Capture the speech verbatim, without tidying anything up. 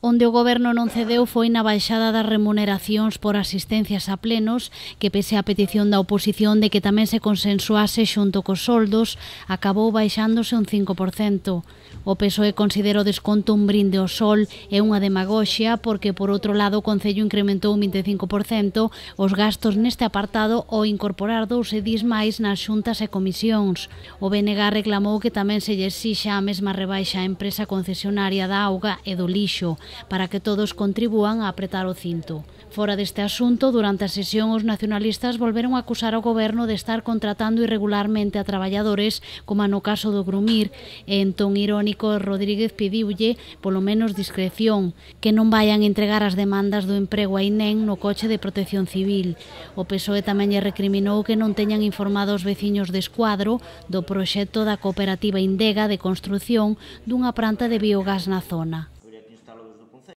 Onde o Goberno non cedeu foi na baixada das remuneracións por asistencias a plenos, que pese á petición da oposición de que tamén se consensuase xunto cos soldos, acabou baixándose un cinco por cento. O P S O E considera o desconto un brinde ao sol e unha demagoxia porque, por outro lado, o Concello incrementou un vinte e cinco por cento os gastos neste apartado ao incorporar dous edís máis nas xuntas e comisións. O B N G reclamou que tamén se lle exixa a mesma rebaixa á empresa concesionaria da auga e do lixo, para que todos contribúan a apretar o cinto. Fora deste asunto, durante a sesión os nacionalistas volveron a acusar ao Goberno de estar contratando irregularmente a traballadores, como no caso do Grumir, e en ton irónico Rodríguez pediulle, polo menos discreción, que non vayan entregar as demandas do emprego a INEM no coche de Protección Civil. O P S O E tamén lle recriminou que non teñan informado os veciños de Escuadro do proxecto da cooperativa Indega de construción dunha planta de biogás na zona.